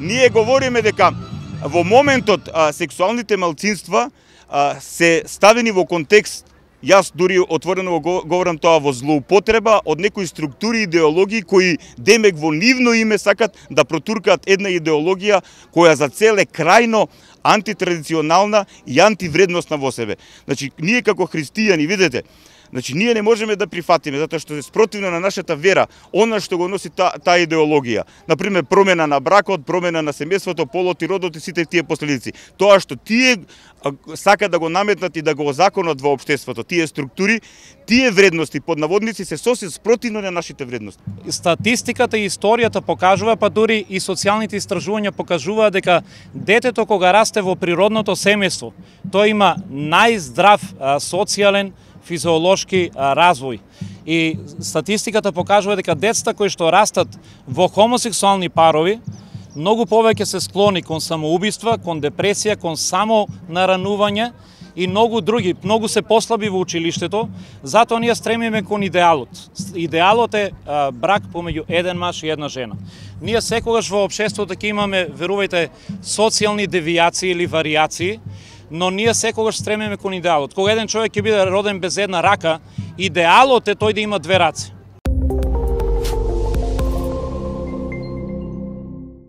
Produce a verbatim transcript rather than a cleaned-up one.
Ние говориме дека во моментот а, сексуалните малцинства а, се ставени во контекст, јас дури отворено го говорам тоа, во злоупотреба од некои структури и идеологии кои демек во нивно име сакат да протуркаат една идеологија која за цел е крајно антитрадиционална и антивредностна во себе. Значи, ние како христијани, видете, значи ние не можеме да прифатиме затоа што е спротивно на нашата вера, она што го носи таа та идеологија. Например, промена на бракот, промена на семејството, полот и родот и сите тие последици. Тоа што тие сакат да го наметнат и да го озаконат во општеството, тие структури, тие вредности под наводници се сосед спротивно на нашите вредности. Статистиката и историјата покажува, па дури и социјалните истражувања покажуваат дека детето кога расте во природното семејство, тој има најздрав а, социјален физиолошки а, развој. И статистиката покажува дека децата кои што растат во хомосексуални парови многу повеќе се склони кон самоубиства, кон депресија, кон само наранување и многу други, многу се послаби во училиштето, затоа ние стремиме кон идеалот. Идеалот е а, брак помеѓу еден маж и една жена. Ние секогаш во општеството ќе имаме, верувајте, социјални девијации или варијации, но ние секогаш стремиме кон идеалот. Кога еден човек ќе биде роден без една рака, идеалот е тој да има две раци.